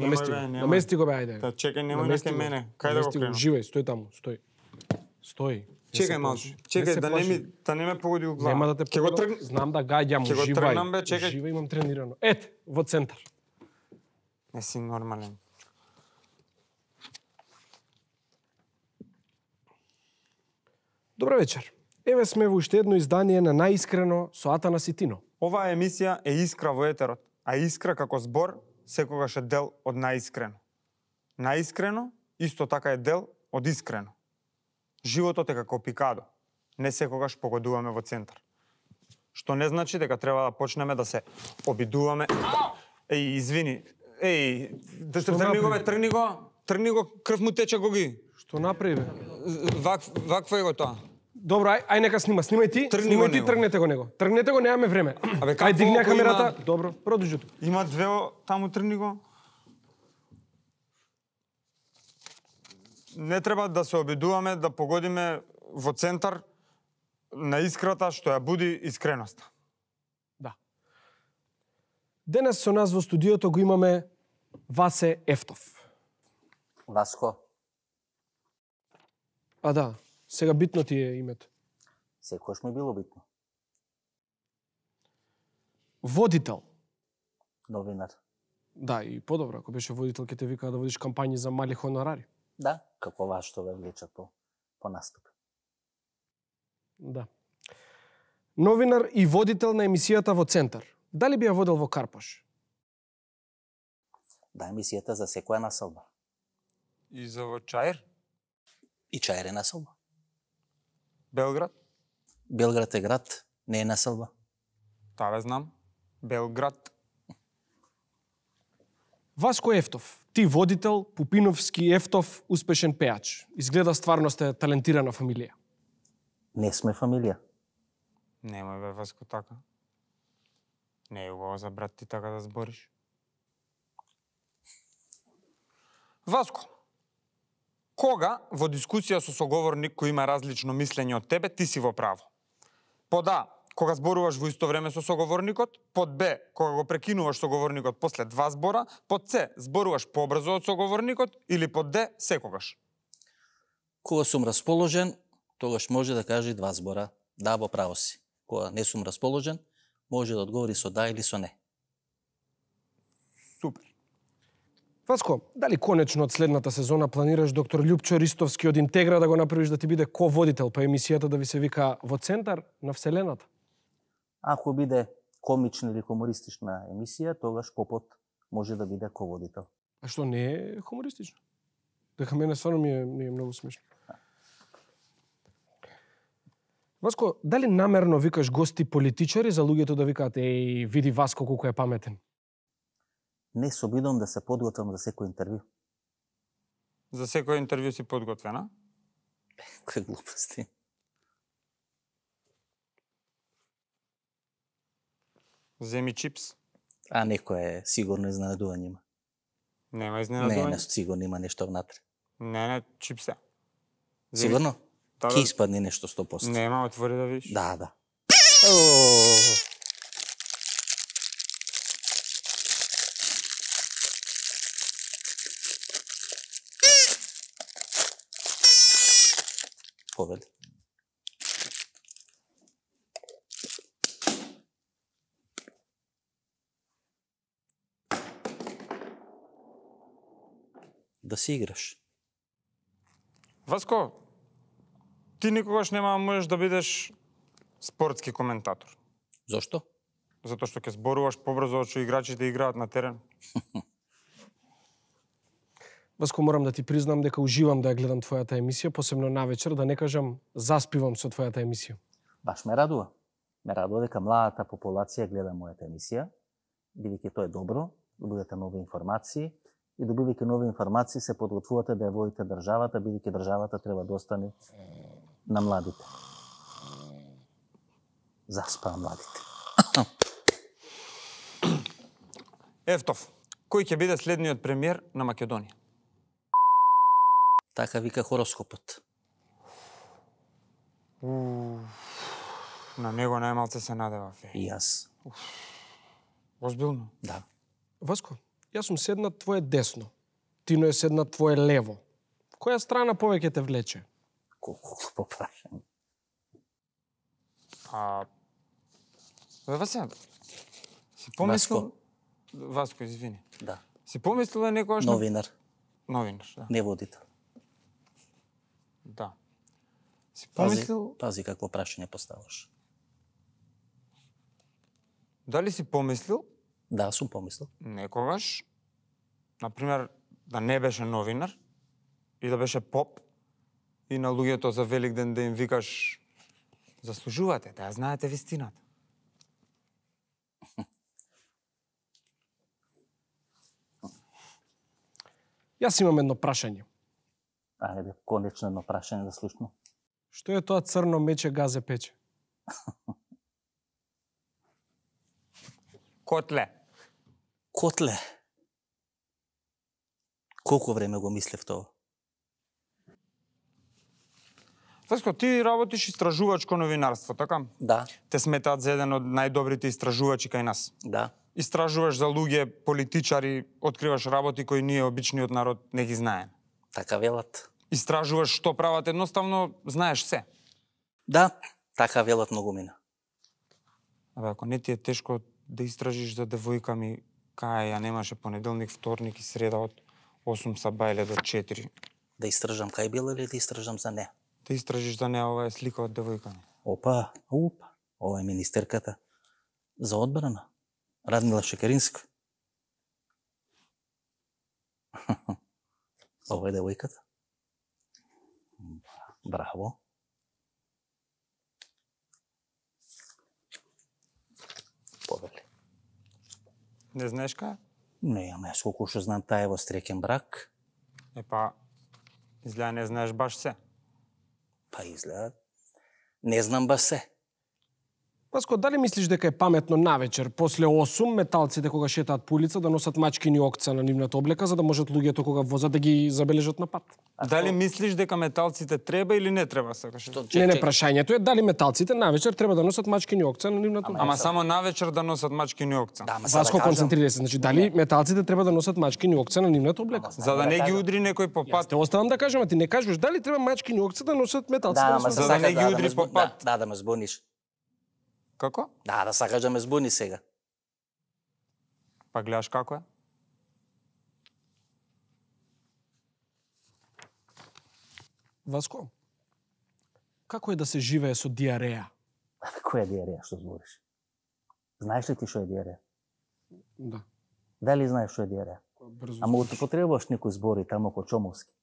Намести го бе, ајде. Та чекај, немој на кај мене. Кај да го кренам? Живеј, стој таму, стој. Стој. Чекај малку. Чекај да не ме погоди у глава. Нема да те погоди. Знам да гаѓам, Ќе го уживај. тргнам бе, чекај. Уживај, имам тренирано. Ет, во центар. Не си нормален. Добро вечер. Еве сме во уште едно издание на Наискрено со Атана Ситино. Оваа емисија е искра во етерот, а искра како збор секогаш е дел од наискрено. Наискрено исто така е дел од искрено. Животот е како пикадо. Не секогаш погодуваме во центар. Што не значи дека треба да почнеме да се обидуваме. Еј, извини. Еј, тргни го, крв му тече го ги. Што направи бе? Вакво е го тоа. Добро, ај нека снимај ти, тргнете го него. Тргнете го, немаме време. Ај дигни камерата. Добро, продолжи. Има две таму, тргни го. Не треба да се обидуваме да погодиме во центар на искрата што ја буди искреноста. Да. Денес со нас во студиото го имаме Васе Ефтов. Васко. А да, сега битно ти е името. Секојаш ми било битно. Водител. Новинар. Да, и подобро, ако беше водител, ќе те викаа да водиш кампањи за мали хонорари. Да, како вас што ве влечат по наступ. Да. Новинар и водител на емисијата во Центар. Дали би ја водел во Карпош? Да, емисијата за секоја населба. И за во Чаир? И Чаир е населба. Белград? Белград е град, не е населба. Таа ве знам. Белград. Васко Ефтов, ти водител, Пупиновски, Ефтов, успешен пеач. Изгледа стварно сте талентирана фамилија. Не сме фамилија. Немој бе, Васко, така. Не е убаво за брат ти така да збориш. Васко, кога во дискусија со соговорник кој има различно мислење од тебе, ти си во право? Под А, кога зборуваш во исто време со соговорникот, под Б, кога го прекинуваш соговорникот после 2 збора, под С, зборуваш побрзо од соговорникот или под Д, секогаш? Кога сум расположен, тогаш може да каже 2 збора. Да, во право си. Кога не сум расположен, може да одговори со да или со не. Супер. Васко, дали конечно од следната сезона планираш доктор Љупчо Ристовски од Интегра да го направиш да ти биде ко-водител па емисијата да ви се вика Во Центар на Вселената? Ако биде комична или хумористична емисија, тогаш Попот може да биде ко-водител. А што не е хумористично? Дека мене стварно ми е многу смешно. Васко, дали намерно викаш гости политичари за луѓето да викаат еј, види Васко колку е паметен? Не се обидам да се подготвам за секој интервју. За секој интервју си подготвена? Кој глупости. Земи чипс. А некој е сигурно изненадување има. Нема изненадување? Не, сигурно има нешто внатре. Не, чипсе. Сигурно? Да, Ке испадне нешто 100%. Нема, отвори да видиш. Да. Повели. Да си играш. Васко, ти никогаш нема да можеш да бидеш спортски коментатор. Зошто? Затоа што ќе зборуваш побрзо од што играчите играат на терен. Васко, морам да ти признам дека уживам да ја гледам твојата емисија, посебно навечер, да не кажам заспивам со твојата емисија. Баш ме радува. Ме радува дека младата популација гледа мојата емисија, бидејќи тоа е добро, добивате нови информации и добивајќи нови информации се подготвувате да ја водите државата, бидејќи државата треба да остане на младите. Заспаа младите. Ефтов, кој ќе биде следниот премиер на Македонија? Така вика хороскопот. На него најмалце се надевав. И јас. Озбилно? Да. Васко, Јас сум седнат твое десно. Тино е седнат твое лево. Која страна повеќе те влече? Колку глупо прашање. Васко, си помислил... Васко, извини. Да. Си помислил да некојаш... Новинар, Новинар, да. не водител. Да. Си помислил... Пази какво прашање поставаш. Дали си помислил Да, сум помислил. некогаш, например, да не беше новинар и да беше поп и на луѓето за Великден да им викаш заслужувате да ја знаете вистината. Јас имам едно прашање. Ајде, конечно едно прашање да слушнам. Што е тоа црно мече газе пече? Котле. Котле. Колку време го мислев тоа? Васко, ти работиш истражувачко новинарство, така? Да, Те сметаат за еден од најдобрите истражувачи кај нас. да. Истражуваш за луѓе, политичари, откриваш работи кои ние обичниот народ не ги знаеме. Така велат. Истражуваш што прават, едноставно знаеш се. Да, така велат многумина. Абе, ако не ти е тешко да истражиш за девојка ми, кај ја немаше понеделник, вторник и среда од 8 са бајле до 4. Да истражам кај била или да истражам за не? Да истражиш за неа, ова е слика од девојка ми. Опа, ова е министерката за одбрана. Радмила Шекеринска. Ова е девојката. Браво. Повели. Не знаеш кај? Не, ама јас колку што знам, таа е во стрекен брак. Епа, изгледа не знаеш баш се. Па изгледа. Не знам баш се. Васко, дали мислиш дека е паметно навечер, после 8, металците кога шетаат по улица да носат мачкини окца на нивната облека, за да можат луѓето кога возат да ги забележат на пат? Дали мислиш дека металците треба или не треба, сакаш? Не, прашањето е дали металците навечер треба да носат мачкини окца на нивната облека. Ама само навечер да носат мачкини окца. Да, ама Васко, концентрира се, значи дали металците треба да носат мачкини окца на нивната облека? За да не ги удри некој по пат. Те оставам да кажам, а ти не кажеш дали треба мачкини окца да носат металците Да, на ама својот? За да не ги удри по пат. Да ме збуниш. Како? Да сакаш да ме збуни сега. Па гледаш како е? Васко, како е да се живее со диареја? Која е диареја, што збориш? Знаеш ли ти што е диареја? Да. Дали знаеш што е диареја? Брзо. Ама употребуваш некои збори тамо ко чомовски.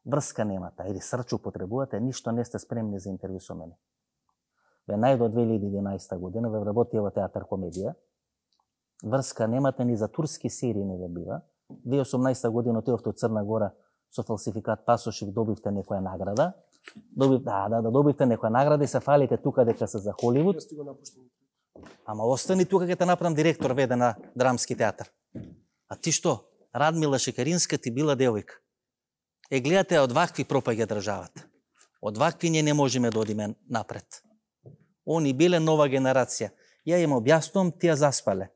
Врска немате, или срч употребувате, ништо не сте спремни за интервју со мене. Ве најдо 2011 година, ве вработија во театар комедија. Врска немате ни за турски серии не ве бива. 2018 година отидовте од Црна Гора со фалсификат пасош и добивте некоја награда. Добивте некоја награда и се фалите тука дека се за Холивуд. Ама остани тука ќе те направам директор веде на драмски театар. А ти што? Радмила Шекеринска ти била девојка. Гледате, од вакви пропаѓа државата. Од вакви ние не можеме да одиме напред. Они биле нова генерација. Ја им објаснувам, тие заспале.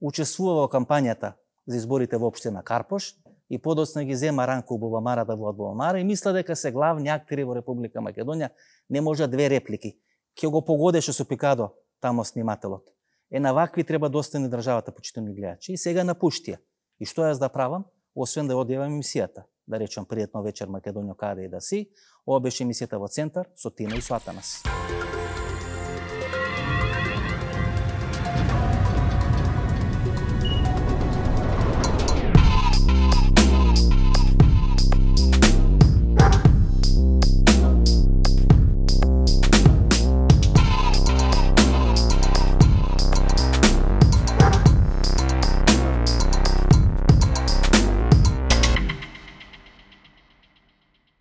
Учествува во кампањата за изборите во општина Карпош и подоцна ги зема Ранко Бубамарата во Бубамара и мисла дека се главни актери во Република Македонија, не може две реплики. Ќе го погодеше со пикадо тамо снимателот. На вакви треба да остане државата, почитувани гледачи. И сега напуштија. И што јас да правам? Освен да одјавам емисијата. Да речам пријатно вечер Македонија каде и да си. Ова беше емисијата во Центар со Тина и со Атанас.